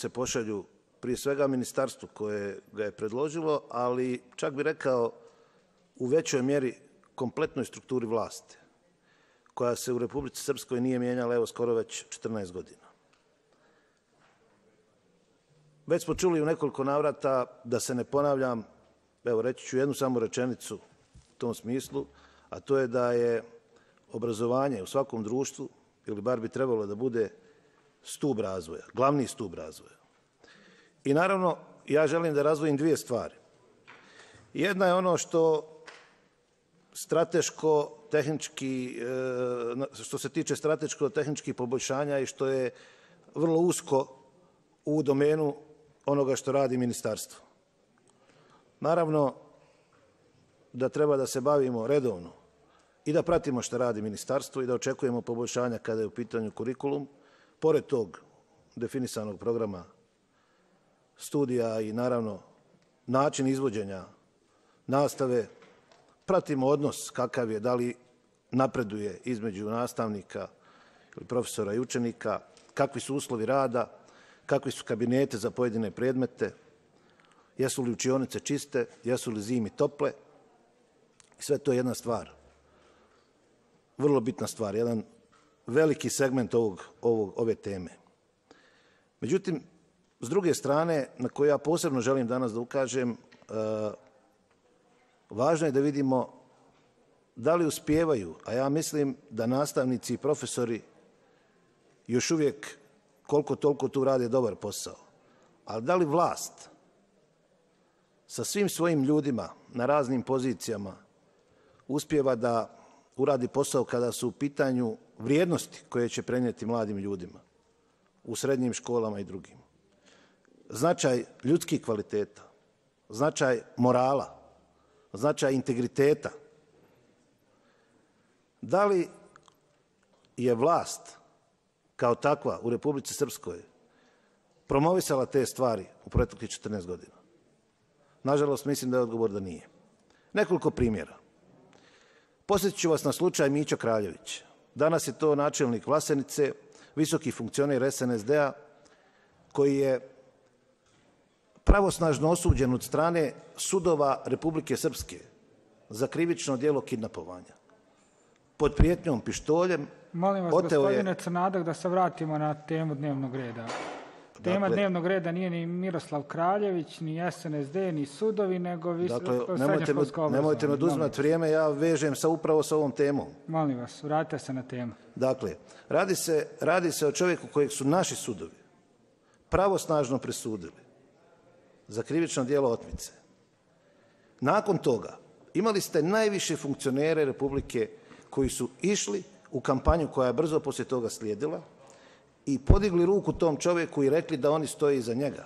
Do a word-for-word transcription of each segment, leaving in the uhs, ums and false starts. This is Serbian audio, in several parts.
se pošalju prije svega ministarstvu koje ga je predložilo, ali čak bi rekao u većoj mjeri kompletnoj strukturi vlasti, koja se u Republici Srpskoj nije mijenjala evo skoro već četrnaest godina. Već smo čuli u nekoliko navrata, da se ne ponavljam, evo reći ću jednu samo rečenicu u tom smislu, a to je da je obrazovanje u svakom društvu, ili bar bi trebalo da bude stup razvoja, glavni stup razvoja. I naravno, ja želim da razdvojim dvije stvari. Jedna je ono što strateško tehnički, što se tiče strateško-tehničkih poboljšanja i što je vrlo usko u domenu onoga što radi ministarstvo. Naravno da treba da se bavimo redovno i da pratimo što radi ministarstvo i da očekujemo poboljšanja kada je u pitanju kurikulum, pored tog definisanog programa studija i naravno način izvođenja nastave, pratimo odnos kakav je, da li napreduje između nastavnika ili profesora i učenika, kakvi su uslovi rada, kakvi su kabinete za pojedine predmete, jesu li učionice čiste, jesu li zimi tople. Sve to je jedna stvar, vrlo bitna stvar, jedan veliki segment ovog, ovog, ove teme. Međutim, s druge strane, na koju ja posebno želim danas da ukažem, važno je da vidimo da li uspijevaju, a ja mislim da nastavnici i profesori još uvijek koliko toliko tu rade dobar posao, ali da li vlast sa svim svojim ljudima na raznim pozicijama uspijeva da uradi posao kada su u pitanju vrijednosti koje će prenijeti mladim ljudima u srednjim školama i drugim. Značaj ljudskih kvaliteta, značaj morala, značaj integriteta. Da li je vlast kao takva u Republici Srpskoj promovisala te stvari u proteklih četrnaest godina? Nažalost, mislim da je odgovor da nije. Nekoliko primjera. Posjetit ću vas na slučaj Mićo Kraljević. Danas je to načelnik Vlasenice, visoki funkcioner es en es de a, koji je pravosnažno osuđen od strane sudova Republike Srpske za krivično djelo kidnapovanja. Pod prijetnjom pištoljem. Molim vas, gospodine Crnadak, da se vratimo na temu dnevnog reda. Tema dakle, dnevnog reda nije ni Miroslav Kraljević, ni es en es de, ni sudovi, nego dakle, srednjoškolsko obrazovanje. Nemojte me oduzimati vrijeme, ja vežem sa upravo sa ovom temom. Molim vas, vratite se na temu. Dakle, radi se, radi se o čovjeku kojeg su naši sudovi pravosnažno presudili za krivično djelo otmice. Nakon toga imali ste najviše funkcionere Republike koji su išli u kampanju koja je brzo poslije toga slijedila i podigli ruku tom čovjeku i rekli da oni stoje iza njega.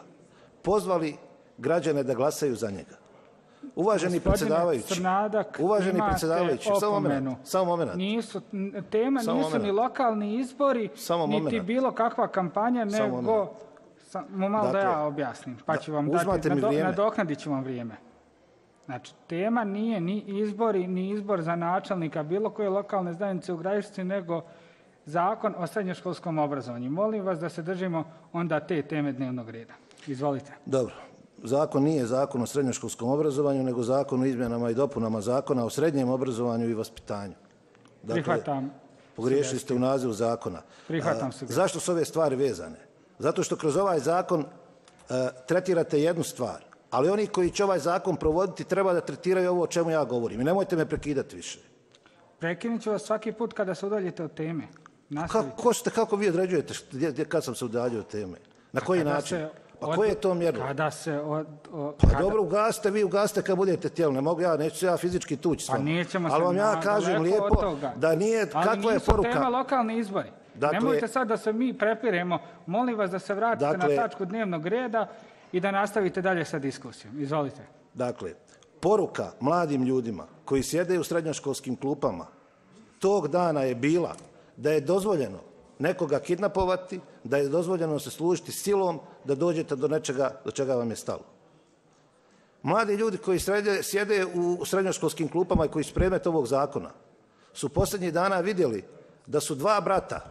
Pozvali građane da glasaju za njega. Uvaženi predsjedavajući, uvaženi predsjedavajući, samo moment, samo moment. Nisu, tema samo nisu moment. Ni lokalni izbori, samo niti moment. Bilo kakva kampanja, samo nego, samo malo dakle, da ja objasnim, pa ću vam dati, nado, nadoknadit ću vam vrijeme. Znači, tema nije ni izbori, ni izbor za načelnika bilo koje lokalne zajednice u Gradišci, nego zakon o srednjoškolskom obrazovanju. Molim vas da se držimo onda te teme dnevnog reda. Izvolite. Dobro. Zakon nije zakon o srednjoškolskom obrazovanju, nego zakon o izmjenama i dopunama zakona o srednjem obrazovanju i vaspitanju. Dakle, prihvatam. Pogriješili ste u nazivu zakona. Prihvatam se. Zašto su ove stvari vezane? Zato što kroz ovaj zakon a, tretirate jednu stvar, ali oni koji će ovaj zakon provoditi treba da tretiraju ovo o čemu ja govorim. I nemojte me prekidati više. Prekinut ću vas svaki put kada se udaljite od teme. Kako, ste, kako vi određujete kad sam se udaljio od teme? Na koji kada način? Pa od, koje je to mjerilo? Kada se... Od, od, pa kada... dobro, ugasite, vi ugasite kad budete tijelo. Ne mogu ja, neću se ja fizički tući s vama. Pa nećemo ali vam ja kažem lijepo da nije... Ali kakva je poruka? tema lokalni izbori. Dakle, nemojte sad da se mi prepiremo. Molim vas da se vratite dakle, na tačku dnevnog reda i da nastavite dalje sa diskusijom. Izvolite. Dakle, poruka mladim ljudima koji sjede u srednjoškolskim klupama tog dana je bila da je dozvoljeno nekoga kidnapovati, da je dozvoljeno se služiti silom da dođete do nečega do čega vam je stalo. Mladi ljudi koji srede, sjede u srednjoškolskim klupama i koji su predmet ovog zakona su posljednjih dana vidjeli da su dva brata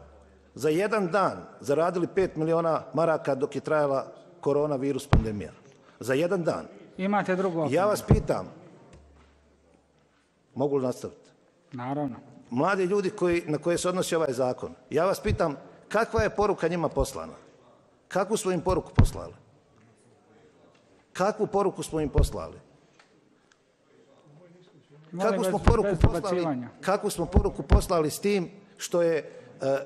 za jedan dan zaradili pet miliona maraka dok je trajala koronavirus pandemija. Za jedan dan. Imate drugu opomenu. Ja vas pitam, mogu li nastaviti? Naravno. Mladi ljudi koji, na koje se odnosi ovaj zakon, ja vas pitam kakva je poruka njima poslana? Kakvu smo im poruku poslali? Kakvu poruku smo im poslali? Kakvu smo poruku poslali, kakvu smo poruku poslali s tim što je e,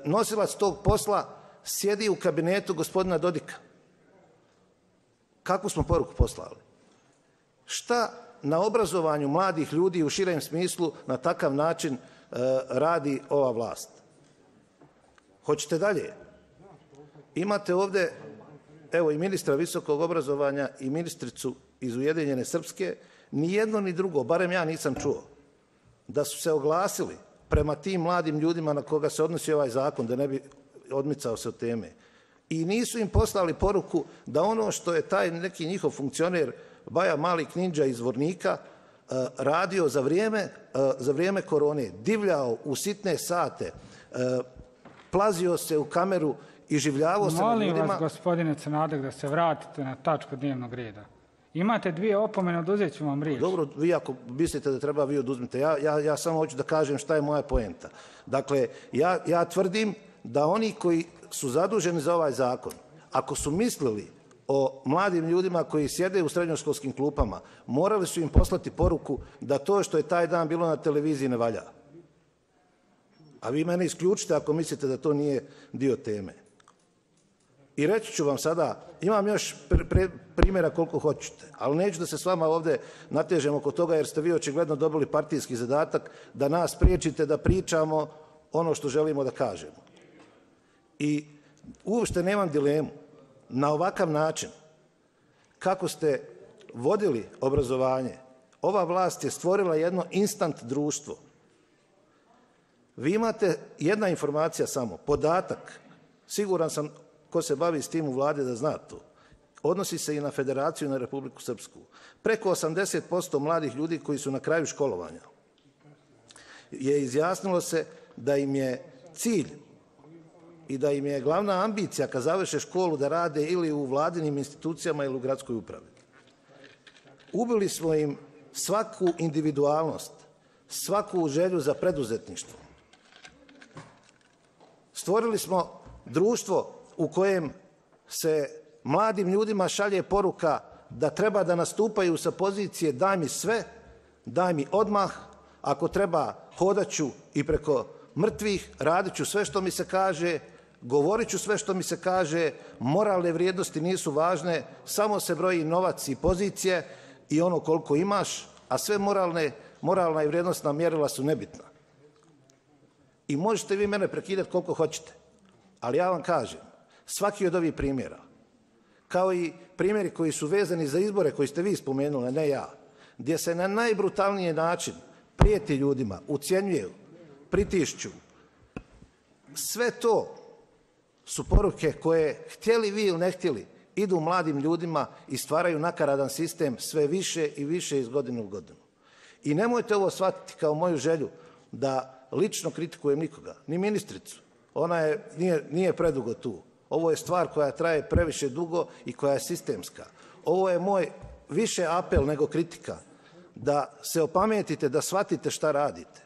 nosilac tog posla sjedi u kabinetu gospodina Dodika? Kakvu smo poruku poslali? Šta na obrazovanju mladih ljudi u širem smislu na takav način e, radi ova vlast? Hoćete dalje? Imate ovdje, evo, i ministra visokog obrazovanja i ministricu iz Ujedinjene Srpske, ni jedno ni drugo, barem ja nisam čuo, da su se oglasili prema tim mladim ljudima na koga se odnosi ovaj zakon, da ne bi odmicao se od teme. I nisu im poslali poruku da ono što je taj neki njihov funkcioner Baja Mali Knindža iz Zvornika radio za vrijeme, za vrijeme korone, divljao u sitne sate, plazio se u kameru i življavao se na ljudima. Molim vas, gospodine Crnadek, da se vratite na tačku dnevnog reda. Imate dvije opomene, oduzet ću vam riječ. Dobro, vi ako mislite da treba, vi oduzmite. Ja, ja, ja samo hoću da kažem šta je moja poenta. Dakle, ja, ja tvrdim da oni koji su zaduženi za ovaj zakon, ako su mislili o mladim ljudima koji sjede u srednjoškolskim klupama, morali su im poslati poruku da to što je taj dan bilo na televiziji ne valja. A vi mene isključite ako mislite da to nije dio teme. I reći ću vam sada, imam još primjera koliko hoćete, ali neću da se s vama ovdje natežem oko toga jer ste vi očigledno dobili partijski zadatak da nas priječite da pričamo ono što želimo da kažemo. I uopšte nemam dilemu. Na ovakav način kako ste vodili obrazovanje, ova vlast je stvorila jedno instant društvo. Vi imate jedna informacija samo, podatak, siguran sam ko se bavi s tim u vladi da zna to, odnosi se i na Federaciju i na Republiku Srpsku. Preko osamdeset posto mladih ljudi koji su na kraju školovanja je izjasnilo se da im je cilj i da im je glavna ambicija kad završe školu da rade ili u vladinim institucijama ili u gradskoj upravi. Ubili smo im svaku individualnost, svaku želju za preduzetništvo. Stvorili smo društvo u kojem se mladim ljudima šalje poruka da treba da nastupaju sa pozicije daj mi sve, daj mi odmah, ako treba hodat ću i preko mrtvih, radit ću sve što mi se kaže, govorit ću sve što mi se kaže, moralne vrijednosti nisu važne, samo se broji novac i pozicije i ono koliko imaš, a sve moralne, moralna i vrijednostna mjerila su nebitna. I možete vi mene prekidati koliko hoćete, ali ja vam kažem, svaki od ovih primjera, kao i primjeri koji su vezani za izbore koji ste vi spomenuli, ne ja, gdje se na najbrutalniji način prijeti ljudima, ucjenjuju, pritišću, sve to su poruke koje, htjeli vi ili ne htjeli, idu mladim ljudima i stvaraju nakaradan sistem sve više i više iz godine u godinu. I nemojte ovo shvatiti kao moju želju da lično kritikujem nikoga, ni ministricu. Ona je, nije, nije predugo tu. Ovo je stvar koja traje previše dugo i koja je sistemska. Ovo je moj više apel nego kritika, da se opametite, da shvatite šta radite.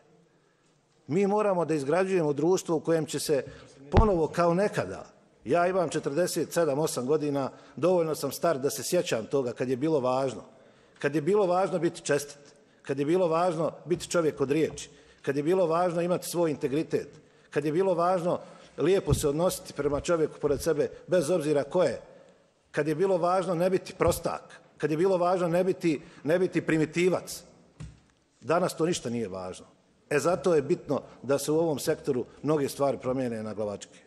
Mi moramo da izgrađujemo društvo u kojem će se ponovo kao nekada, ja imam četrdeset sedam osam godina, dovoljno sam star da se sjećam toga kad je bilo važno. Kad je bilo važno biti čestit, kad je bilo važno biti čovjek od riječi, kad je bilo važno imati svoj integritet, kad je bilo važno lijepo se odnositi prema čovjeku pored sebe, bez obzira ko je, kad je bilo važno ne biti prostak, kad je bilo važno ne biti, ne biti primitivac. Danas to ništa nije važno. E zato je bitno da se u ovom sektoru mnoge stvari promijene na glavačke.